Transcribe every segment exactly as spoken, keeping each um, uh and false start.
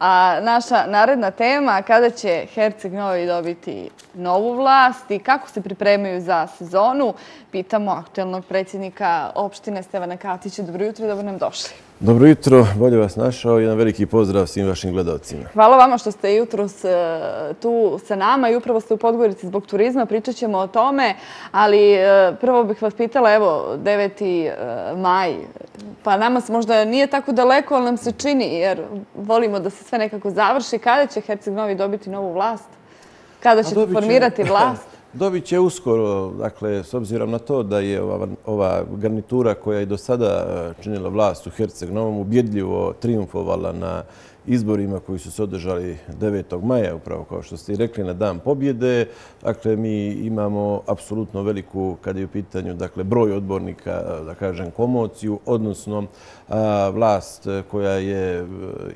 A naša naredna tema, kada će Herceg Novi dobiti novu vlast i kako se pripremaju za sezonu, pitamo aktuelnog predsjednika opštine Stevana Katića. Dobro jutro i dobro nam došli. Dobro jutro, bolje vas našao i jedan veliki pozdrav svim vašim gledalcima. Hvala vama što ste jutros tu sa nama i upravo ste u Podgorici zbog turizma. Pričat ćemo o tome, ali prvo bih vas pitala, evo, deveti maj, pa nama se možda nije tako daleko, ali nam se čini, jer volimo da se sve nekako završi. Kada će Herceg Novi dobiti novu vlast? Kada ćete formirati vlast? Dobit će uskoro, dakle, s obzirom na to da je ova, ova garnitura koja je do sada činila vlast u Herceg Novom ubjedljivo triumfovala na izborima koji su se održali devetog maja, upravo kao što ste i rekli, na dan pobjede. Dakle, mi imamo apsolutno veliku, kada je u pitanju, dakle, broj odbornika, da kažem, komociju, odnosno a, vlast koja je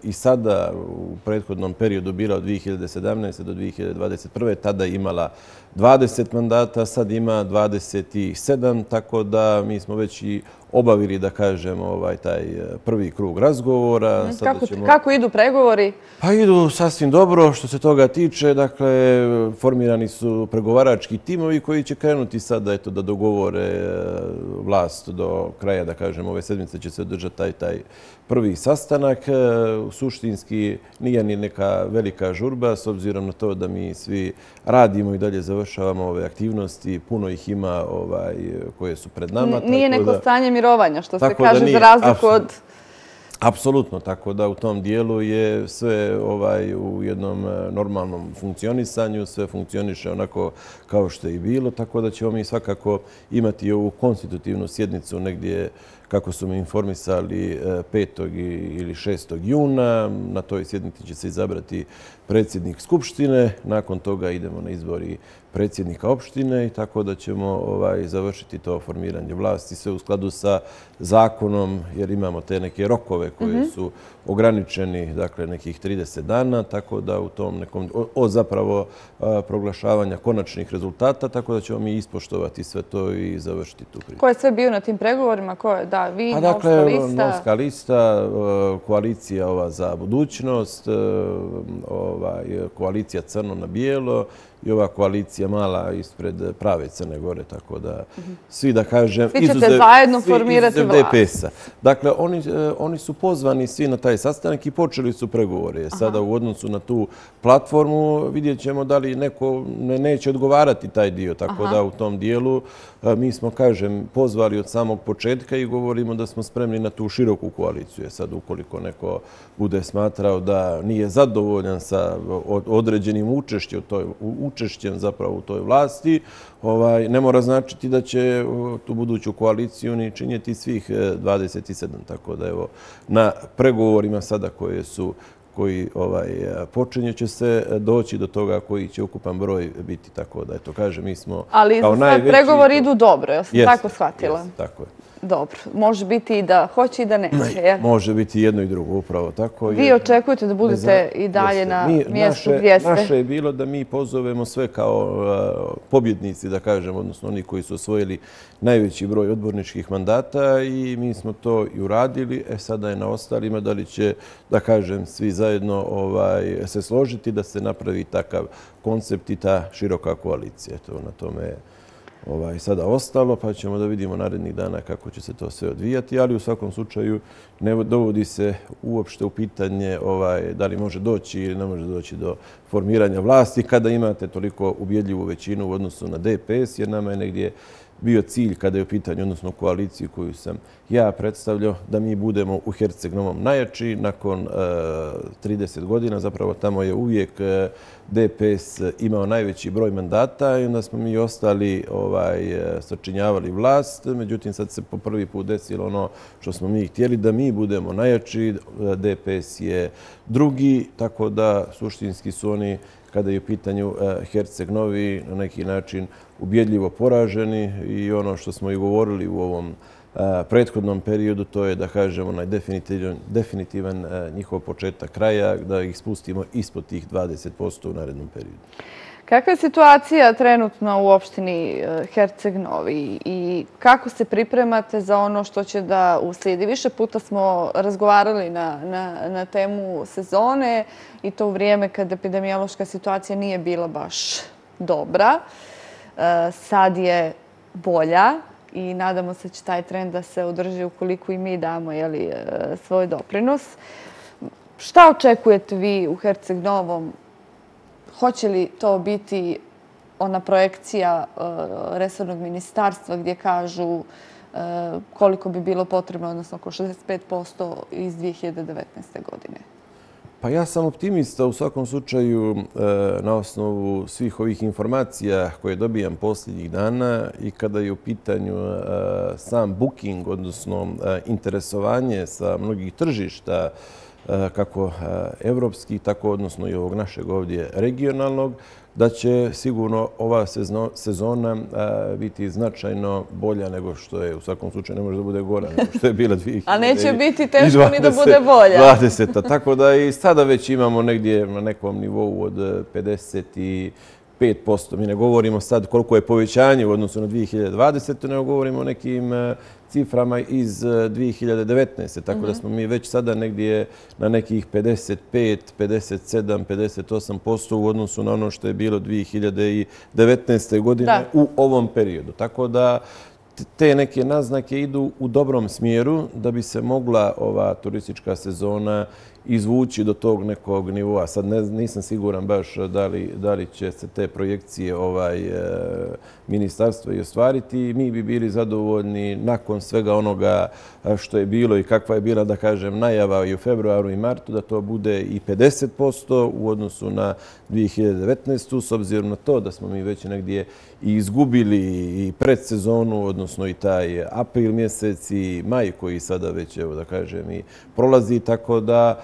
i sada u prethodnom periodu bila od dvije hiljade sedamnaeste. do dvije hiljade dvadeset prve. tada imala dvadeset mandata, sad ima dvadeset sedam, tako da mi smo već i obavili, da kažem, ovaj, taj prvi krug razgovora. Kako, ćemo... kako idu pregovori? Pa idu sasvim dobro što se toga tiče. Dakle, formirani su pregovarački timovi koji će krenuti sada eto, da dogovore vlast do kraja, da kažem, ove sedmice će se održati taj, taj prvi sastanak. Suštinski nije ni neka velika žurba, s obzirom na to da mi svi radimo i dalje završavamo ove aktivnosti. Puno ih ima ovaj, koje su pred nama. Nije neko da... stanje mirovanja, što se kaže, za razliku od... Apsolutno, tako da u tom dijelu je sve ovaj, u jednom normalnom funkcionisanju, sve funkcioniše onako kao što je i bilo, tako da ćemo mi svakako imati ovu konstitutivnu sjednicu negdje, kako su mi informisali, petog ili šestog juna. Na toj sjednici će se izabrati predsjednik Skupštine, nakon toga idemo na izbori predsjednika opštine i tako da ćemo ovaj, završiti to formiranje vlasti sve u skladu sa zakonom, jer imamo te neke rokove koje su ograničeni, dakle nekih trideset dana, tako da u tom nekom, od zapravo proglašavanja konačnih rezultata, tako da ćemo mi ispoštovati sve to i završiti tu priču. Ko je sve bio na tim pregovorima? Ko je, da, vi, A, Novska dakle, lista? Novska lista, koalicija ova za budućnost, ovaj, koalicija Crno na bijelo i ova koalicija mala ispred prave Crne Gore, tako da svi, da kažem, svi ćete zajedno formirati vlast. D P S-a. Dakle, oni, oni su pozvani svi na taj sastanak i počeli su pregovore. Sada u odnosu na tu platformu vidjet ćemo da li neko ne, neće odgovarati taj dio, tako Aha. da u tom dijelu mi smo, kažem, pozvali od samog početka i govorimo da smo spremni na tu široku koaliciju. Sad, ukoliko neko bude smatrao da nije zadovoljan sa određenim učešćem, toj, učešćem zapravo u toj vlasti, ovaj, ne mora značiti da će tu buduću koaliciju ni činjeti svih dvadeset sedam. Tako da, evo, na pregovorima sada koje su koji ovaj, počinje će se doći do toga koji će ukupan broj biti. Tako da, eto, kaže, mi smo ali kao najveći... Ali pregovori idu dobro, ja sam jest, tako shvatila. Jest, tako je. Dobro. Može biti i da hoće i da neće. Ne, može biti jedno i drugo, upravo tako. Vi očekujete da budete i dalje jeste. na mi, mjestu naše, gdje ste? Naše je bilo da mi pozovemo sve kao uh, pobjednici, da kažem, odnosno oni koji su osvojili najveći broj odborničkih mandata i mi smo to i uradili. E, sada je na ostalima da li će, da kažem, svi zajedno ovaj, se složiti da se napravi takav koncept i ta široka koalicija. To na tome je ovaj, sada ostalo, pa ćemo da vidimo narednih dana kako će se to sve odvijati, ali u svakom slučaju ne dovodi se uopšte u pitanje ovaj, da li može doći ili ne može doći do formiranja vlasti kada imate toliko ubjedljivu većinu u odnosu na D P S, jer nama je negdje bio cilj kada je u pitanju, odnosno koaliciju koju sam ja predstavljao, da mi budemo u Herceg Novom najjači nakon uh, trideset godina. Zapravo tamo je uvijek uh, D P S imao najveći broj mandata i onda smo mi ostali ovaj, sačinjavali vlast. Međutim, sad se po prvi put desilo ono što smo mi htjeli, da mi budemo najjači. D P S je drugi, tako da suštinski su oni, kada je u pitanju Herceg Novi, na neki način ubjedljivo poraženi i ono što smo i govorili u ovom prethodnom periodu, to je, da kažemo, onaj definitivan, definitivan njihov početak kraja, da ih spustimo ispod tih dvadeset posto u narednom periodu. Kakva je situacija trenutno u opštini Herceg Novi i kako se pripremate za ono što će da uslijedi? Više puta smo razgovarali na, na, na temu sezone i to u vrijeme kad epidemiološka situacija nije bila baš dobra. Sad je bolja i nadamo se da će taj trend da se održi ukoliko i mi damo jeli, svoj doprinos. Šta očekujete vi u Herceg Novom? Hoće li to biti ona projekcija resornog ministarstva gdje kažu koliko bi bilo potrebno, odnosno oko šezdeset pet posto iz dvije hiljade devetnaeste. godine? Pa ja sam optimista u svakom slučaju na osnovu svih ovih informacija koje dobijam posljednjih dana i kada je u pitanju sam booking, odnosno interesovanje sa mnogih tržišta, kako evropskih, tako odnosno i ovog našeg ovdje regionalnog, da će sigurno ova sezona biti značajno bolja nego što je, u svakom slučaju ne može da bude gora nego što je bila dvije hiljade dvadesete. A neće biti teško ni da bude bolja. dvadeseta. Tako da i sada već imamo negdje na nekom nivou od pedeset pet posto. Mi ne govorimo sad koliko je povećanje u odnosu na dvije hiljade dvadesete. nego govorimo o nekim ciframa iz dvije hiljade devetnaeste. Tako da smo mi već sada negdje na nekih pedeset pet, pedeset sedam, pedeset osam posto u odnosu na ono što je bilo dvije hiljade devetnaeste. godine u ovom periodu. Tako da te neke naznake idu u dobrom smjeru da bi se mogla ova turistička sezona izvući do tog nekog nivoa. Sad ne, nisam siguran baš da li, da li će se te projekcije ovaj, e, ministarstva i ostvariti. Mi bi bili zadovoljni nakon svega onoga što je bilo i kakva je bila, da kažem, najava i u februaru i martu, da to bude i pedeset posto u odnosu na dvije hiljade devetnaestu. S obzirom na to da smo mi već negdje i izgubili i predsezonu, odnosno i taj april mjesec i maj koji sada već, evo da kažem, i prolazi, tako da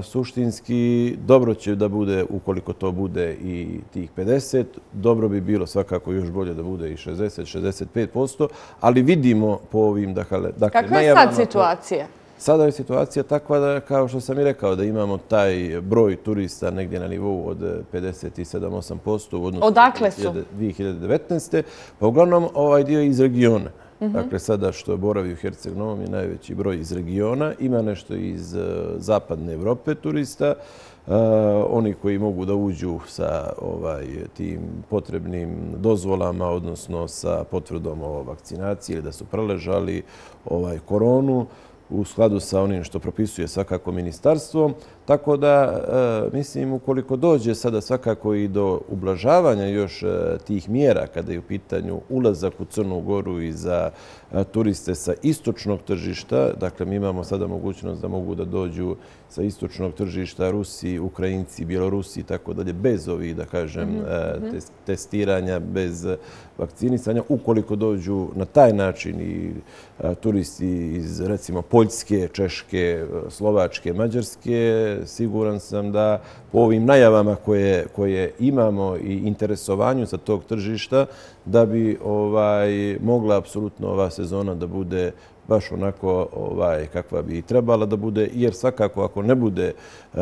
suštinski dobro će da bude, ukoliko to bude i tih pedeset, dobro bi bilo svakako još bolje da bude i šezdeset, šezdeset pet posto, ali vidimo po ovim, dakle, kakva je sad situacija? Sada je situacija takva da, kao što sam i rekao, da imamo taj broj turista negdje na nivou od pedeset sedam do osam posto u odnosu Odakle su? dvije hiljade devetnaeste. Pa uglavnom ovaj dio iz regiona. Dakle, sada što boravi u Herceg Novom je najveći broj iz regiona. Ima nešto iz zapadne Evrope turista. Oni koji mogu da uđu sa ovaj, tim potrebnim dozvolama, odnosno sa potvrdom o vakcinaciji ili da su preležali ovaj, koronu, u skladu sa onim što propisuje svakako ministarstvo. Tako da, mislim, ukoliko dođe sada svakako i do ublažavanja još tih mjera kada je u pitanju ulazak u Crnu Goru i za turiste sa istočnog tržišta, dakle, mi imamo sada mogućnost da mogu da dođu sa istočnog tržišta Rusi, Ukrajinci, Bjelorusi, tako dalje, bez ovih, da kažem, testiranja, bez vakcinisanja. Ukoliko dođu na taj način i turisti iz, recimo, Poljske, Češke, Slovačke, Mađarske, siguran sam da po ovim najavama koje, koje imamo i interesovanju sa tog tržišta, da bi ovaj, mogla apsolutno ova sezona da bude baš onako ovaj, kakva bi trebala da bude, jer svakako ako ne bude uh,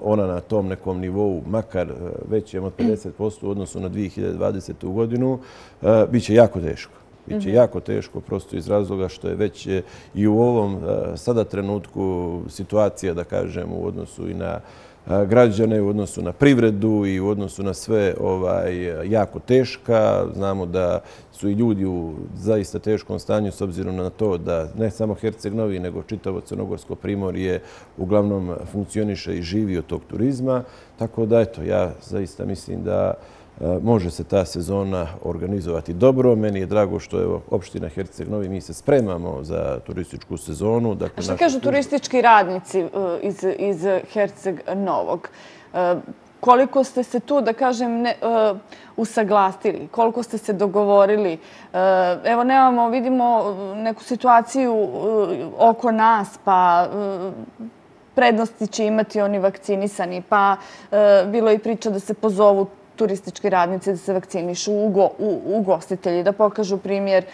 ona na tom nekom nivou, makar većem od pedeset posto u odnosu na dvije hiljade dvadesetu. godinu, uh, bit će jako teško. Biće jako teško, prosto iz razloga što je već i u ovom sada trenutku situacija, da kažem, u odnosu i na građane, u odnosu na privredu i u odnosu na sve ovaj, jako teška. Znamo da su i ljudi u zaista teškom stanju s obzirom na to da ne samo Herceg Novi, nego čitavo Crnogorsko primorje uglavnom funkcioniše i živi od tog turizma. Tako da, eto, ja zaista mislim da može se ta sezona organizovati dobro. Meni je drago što je opština Herceg Novi, mi se spremamo za turističku sezonu. Dakle, a što kažu turistički radnici iz, iz Herceg Novog? Koliko ste se tu, da kažem, ne, uh, usaglasili? Koliko ste se dogovorili? Uh, evo, nemamo, vidimo neku situaciju uh, oko nas, pa uh, prednosti će imati oni vakcinisani, pa uh, bilo je i priča da se pozovu turistički radnici da se vakcinišu, ugostitelji da pokažu primjer,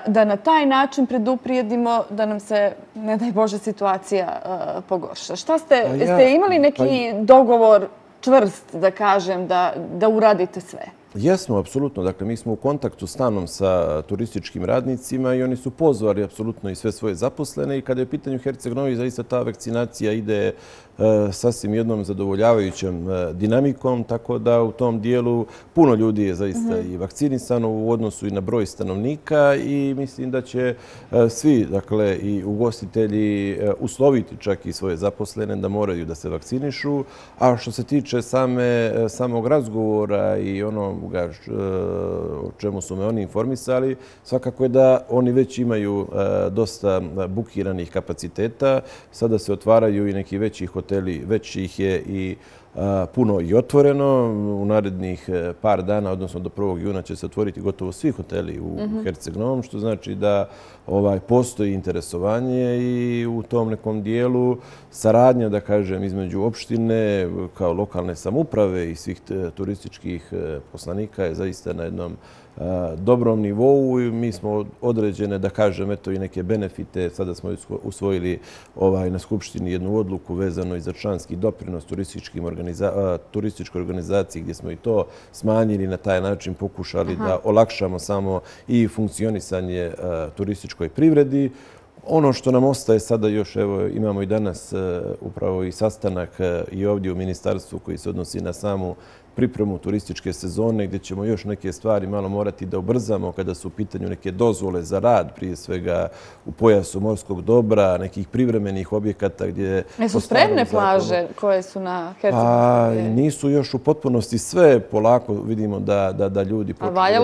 da na taj način preduprijedimo da nam se, ne daj Bože, situacija pogorša. Šta ste, ste imali neki dogovor čvrst, da kažem, da uradite sve? Jesmo, apsolutno. Dakle, mi smo u kontaktu stalnom sa turističkim radnicima i oni su pozvali apsolutno i sve svoje zaposlene i kada je u pitanju Herceg Novi, zaista ta vakcinacija ide sasvim jednom zadovoljavajućom dinamikom, tako da u tom dijelu puno ljudi je zaista i vakcinisano u odnosu i na broj stanovnika i mislim da će svi, dakle, i ugostitelji usloviti čak i svoje zaposlene da moraju da se vakcinišu. A što se tiče samog razgovora i ono o čemu su me oni informisali, svakako je da oni već imaju dosta bukiranih kapaciteta. Sada se otvaraju i neki veći hoteli, već ih je i puno i otvoreno. U narednih par dana, odnosno do prvog juna, će se otvoriti gotovo svi hoteli u Herceg Novom, što znači da postoji interesovanje i u tom nekom dijelu saradnja, da kažem, između opštine kao lokalne samouprave i svih turističkih poslanika je zaista na jednom dobrom nivou i mi smo određene, da kažem, eto i neke benefite. Sada smo usvojili na Skupštini jednu odluku vezano i za članski doprinos turističkoj organizaciji gdje smo i to smanjili i na taj način pokušali da olakšamo samo i funkcionisanje turističkoj privredi. Ono što nam ostaje sada još, evo imamo i danas upravo i sastanak i ovdje u ministarstvu koji se odnosi na samu pripremu turističke sezone gdje ćemo još neke stvari malo morati da ubrzamo kada su u pitanju neke dozvole za rad, prije svega u pojasu morskog dobra, nekih privremenih objekata gdje... Jesu spremne plaže koje su na Herceg-Novom? Nisu još u potpunosti sve. Polako vidimo da ljudi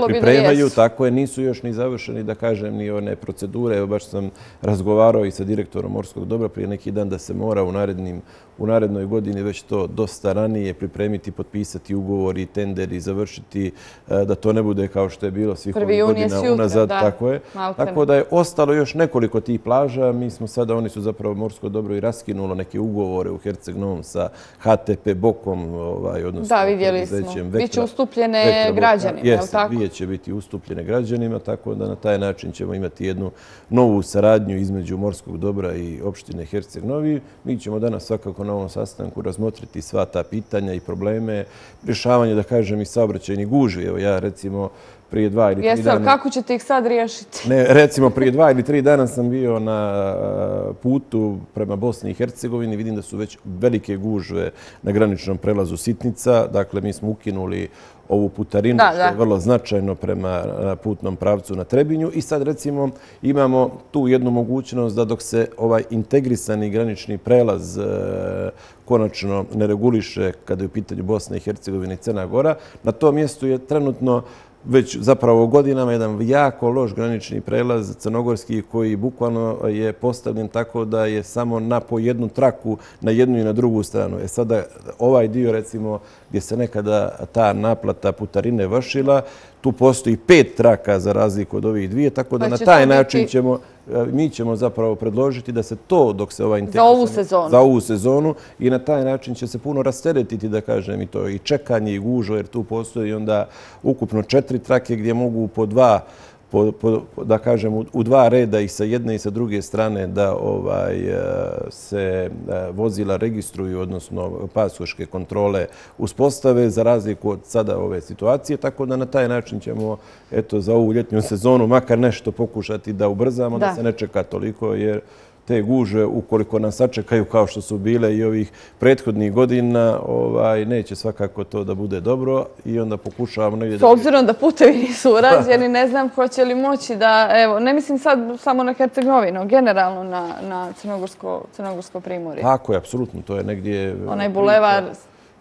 pripremaju. Tako je, nisu još ni završeni, da kažem, ni one procedure. Evo baš sam razgovarao i sa direktorom morskog dobra prije neki dan da se mora u narednim u narednoj godini već to dosta ranije pripremiti, potpisati ugovori, tenderi, završiti, da to ne bude kao što je bilo svih ovih godina unazad. Tako je. Tako da je ostalo još nekoliko tih plaža. Mi smo sada, oni su zapravo morsko dobro i raskinulo neke ugovore u Herceg Novom sa H T P Bokom, odnosno... Da, vidjeli smo. Biće ustupljene građanima, je li tako? Jeste, će biti ustupljene građanima, tako da na taj način ćemo imati jednu novu saradnju između morskog dobra i opštine Herceg Novi. Mi ćemo danas svakako na ovom sastanku razmotriti sva ta pitanja i probleme, rješavanje, da kažem, i saobraćajnih gužvi. Evo ja, recimo, prije dva ili tri dana... Jeste, kako ćete ih sad riješiti? Ne, recimo, prije dva ili tri dana sam bio na putu prema Bosni i Hercegovini. Vidim da su već velike gužve na graničnom prelazu Sitnica. Dakle, mi smo ukinuli ovu putarinu, što je vrlo značajno prema putnom pravcu na Trebinju. I sad, recimo, imamo tu jednu mogućnost da dok se ovaj integrisani granični prelaz konačno ne reguliše kada je u pitanju Bosne i Hercegovine i Crna Gora, na tom mjestu je trenutno već zapravo godinama jedan jako loš granični prelaz crnogorski koji bukvalno je postavljen tako da je samo na po jednu traku na jednu i na drugu stranu. E sada ovaj dio, recimo, gdje se nekada ta naplata putarine vršila, tu postoji pet traka za razliku od ovih dvije, tako da na taj način ćemo, mi ćemo zapravo predložiti da se to, dok se ova za ovu sezonu, za ovu sezonu i na taj način će se puno rasteretiti, da kažem, i to i čekanje i gužvo, jer tu postoji onda ukupno četiri trake gdje mogu po dva, po, po, da kažem, u, u dva reda i sa jedne i sa druge strane da ovaj se vozila registruju, odnosno pasoške kontrole uspostave za razliku od sada ove situacije, tako da na taj način ćemo eto za ovu ljetnju sezonu makar nešto pokušati da ubrzamo, da, da se ne čeka toliko, jer te gužve, ukoliko nas sačekaju kao što su bile i ovih prethodnih godina, ovaj, neće svakako to da bude dobro i onda pokušavamo negdje... S obzirom da putevi nisu urađeni, ne znam hoće li moći da, evo, ne mislim sad samo na Herceg Novi, no generalno na, na Crnogorsko, Crnogorsko primorje. Tako je, apsolutno, to je negdje... Onaj bulevar...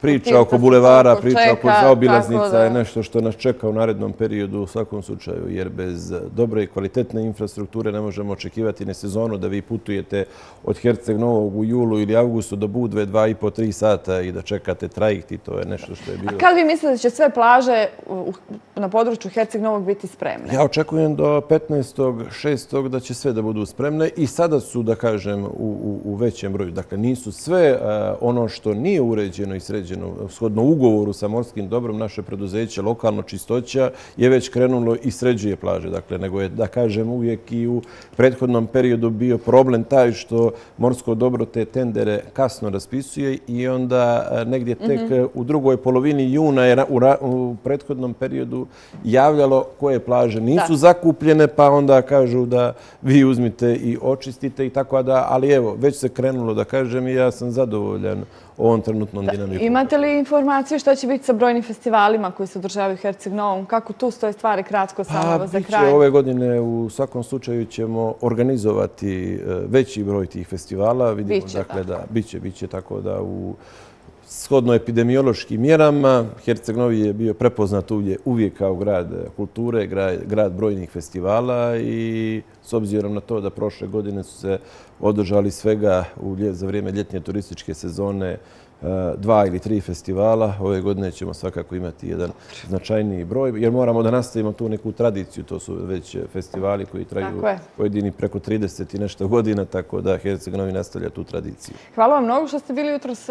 Priča oko bulevara, priča oko zaobilaznica je nešto što nas čeka u narednom periodu u svakom slučaju, jer bez dobre i kvalitetne infrastrukture ne možemo očekivati ne sezonu da vi putujete od Herceg Novog u julu ili avgustu do Budve dva i po, tri sata i da čekate trajekt i to je nešto što je bilo... A kad vi mislite da će sve plaže na području Herceg Novog biti spremne? Ja očekujem do petnaestog šestog da će sve da budu spremne i sada su, da kažem, u, u, u većem broju. Dakle, nisu sve ono što nije uređeno i sređeno određeno. Shodno ugovoru sa morskim dobrom, naše preduzeće, lokalno čistoća, je već krenulo i sređuje plaže. Dakle, nego je, da kažem, uvijek i u prethodnom periodu bio problem taj što morsko dobro te tendere kasno raspisuje i onda negdje tek u drugoj polovini juna je u prethodnom periodu javljalo koje plaže nisu zakupljene, pa onda kažu da vi uzmite i očistite i tako da, ali evo, već se krenulo, da kažem, i ja sam zadovoljan ovom trenutnom dinamikom. Imate li informaciju što će biti sa brojnim festivalima koji se održavaju u Herceg Novom? Kako tu stoje stvari, kratko samo za kraj? Ove godine u svakom slučaju ćemo organizovati veći broj tih festivala. Biće tako. Biće, biće tako da u shodno epidemiološkim mjerama Herceg Novi je bio prepoznat uvijek kao grad kulture, grad brojnih festivala i s obzirom na to da prošle godine su se održali svega za vrijeme ljetnje turističke sezone dva ili tri festivala. Ove godine ćemo svakako imati jedan značajniji broj, jer moramo da nastavimo tu neku tradiciju. To su već festivali koji traju pojedini preko trideset i nešto godina, tako da Herceg Novi nastavlja tu tradiciju. Hvala vam mnogo što ste bili jutros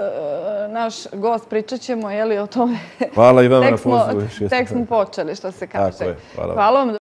naš gost. Pričat ćemo o tome. Hvala i vama na pozivu. Tek smo počeli, što se kaže. Tako je. Hvala vam.